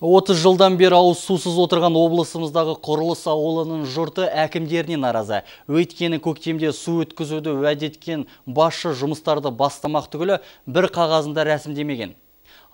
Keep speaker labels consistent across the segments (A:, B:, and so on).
A: 30 жылдан бері ауыз сусыз отырған облысымыздағы Құрылыс ауылының жұрты әкімдеріне наразы. Өйткені көктемде су өткізуді уәде еткен басшы жұмыстарды бастамақ түгілі бір қағазында рәсімдемеген.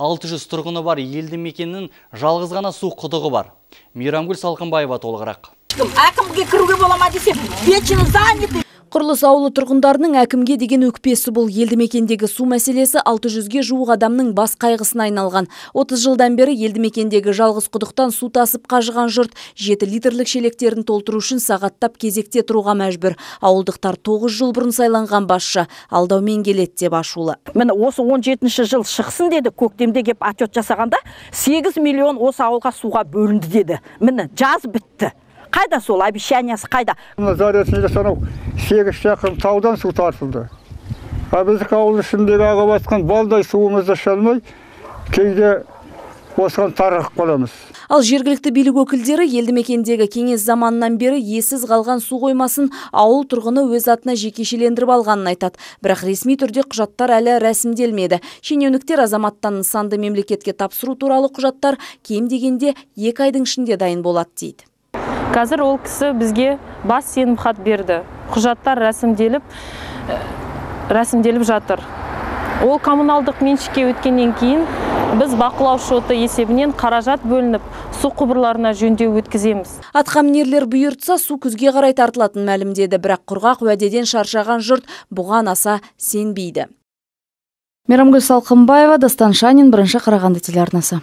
A: 600 тұрғыны бар елді мекеннің жалғыз ғана су құдығы бар. Мейрамгүл Салқынбаева толығырақ.
B: Әкімге кіруге болама десе, печені заняты.
C: Құрылыс ауылы тұрғындарының әкімге деген өкпесі бұл. Елді мекендегі су мәселесі 600-ге жуық адамның бас қайғысына айналған. 30 жылдан бері елді мекендегі жалғыз құдықтан су тасып қажыған жұрт 7 литрлік шелектерін толтыру үшін сағаттап кезекте тұруға мәжбүр. Ауылдықтар 9 жыл бұрын сайланған басшы алдаумен келеді деп ашулы.
B: Міне осы 17-ші жыл шықсын деді, көктемде кеп отчет жасағанда 8 миллион осы ауылға суға бөлінді деді. Міне жаз бітті. Қайда сол обещаниясы қайда?
D: Заречныйда санау 8 шақырым таудан су тартылды. Біздің ауыл ішіндегі ағып атқан балдай суымызды шалмай, кейде осыған тарығып қаламыз.
C: Ал жергілікті билік өкілдері елді мекендегі кеңес заманынан бері ессіз қалған су қоймасын ауыл тұрғыны өз атына жекешелендіріп алғанын айтады. Бірақ ресми түрде құжаттар әлі рәсімделмеді. Шенеуніктер азаматтан нысанды мемлекетке тапсыру туралы құжаттар кем дегенде 2 айдың ішінде дайын болады дейді.
E: Қазір ол кісі бізге бас сенім хат берді. Құжаттар рәсімделіп жатыр. Ол коммуналдық меншікке өткеннен кейін біз бақылау шоты есебінен қаражат бөлініп, су құбырларына жөндеу өткіземіз.
C: Атқамінерлер бұйыртса су күзге қарай тартылатын мәлімдеді, бірақ құрғақ уәдеден шаршаған жұрт бұған аса сенбейді. Мейрамгүл Салқынбаева, Дастан Шанин, Бірінші Қарағанды телеарнасы.